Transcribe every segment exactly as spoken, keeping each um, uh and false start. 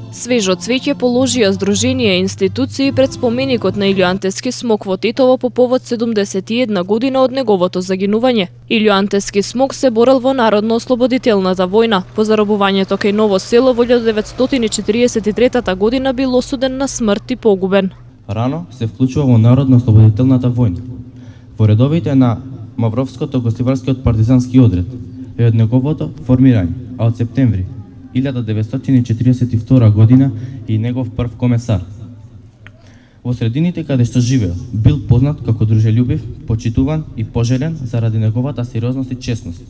Свежо цвеќе положија здруженија и институции пред споменикот на Илјо Антески Смок во Тетово по повод седумдесет и една година од неговото загинување. Илјо Антески Смок се борел во Народно-ослободителната војна. По заробувањето кај Ново село во илјада деветстотини и четириесет и трета година бил осуден на смрт и погубен. Рано се вклучува во Народно-ослободителната војна. Во редовите на Мавровското гостиварскиот партизански одред е од неговото формирање, а од септември илјада деветстотини и четириесет и втора година и негов прв комесар. Во средините каде што живеел, бил познат како дружелюбив, почитуван и пожелен заради неговата сериозност и честност.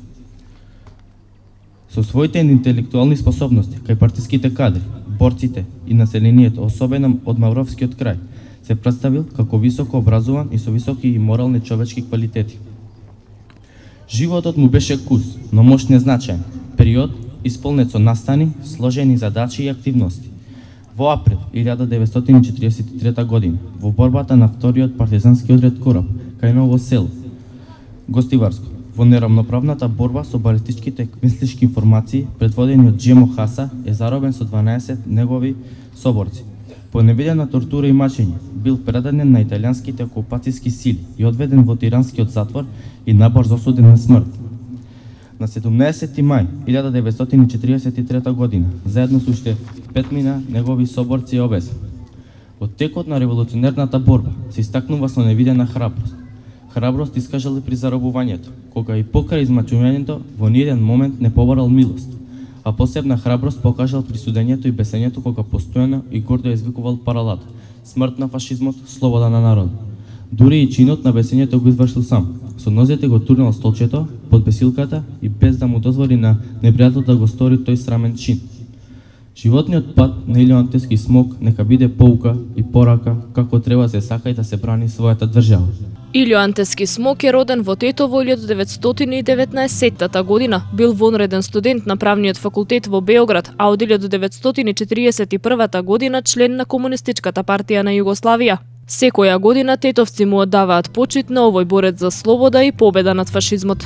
Со своите интелектуални способности кај партиските кадри, борците и населението, особено од Мавровскиот крај, се представил како високо образован и со високи и морални човечки квалитети. Животот му беше кус, но мош незначаен, период исполнет со настани, сложени задачи и активности. Во април илјада деветстотини и четириесет и трета година, во борбата на вториот партизански одред Кораб, кај Ново село, Гостиварско, во нерамноправната борба со балистичките мислички информации, предводени од Джемо Хаса, е заробен со дванаесет негови соборци. По невидена тортура и мачење, бил предаден на италијанските окупацијски сили и одведен во тиранскиот затвор и набрзо осуден на смрт. На седумнаесети мај илјада деветстотини и четириесет и трета година, заедно со уште петмина негови соборци е обесен. Во текот на револуционерната борба се истакнува со невидена храброст. Храброст искажал при заробувањето, кога и покрај измачувањето во ниеден момент не поборал милост, а посебна храброст покажал при судењето и бесењето кога постојано и гордо извикувал паралата: смрт на фашизмот, слобода на народот. Дури и чинот на бесењето го извршил сам. Со нозете го турнал столчето под бесилката и без да му дозволи на непријател да го стори тој срамен чин. Животниот пат на Илјо Антески Смок нека биде поука и порака како треба да се сака и да се брани својата држава. Илјо Антески Смок е роден во Тетово илјада деветстотини и деветнаесетта година. Бил вонреден студент на правниот факултет во Београд, а од илјада деветстотини и четириесет и прва година член на Комунистичката партија на Југославија. Секоја година тетовци му оддаваат почит на овој борец за слобода и победа над фашизмот.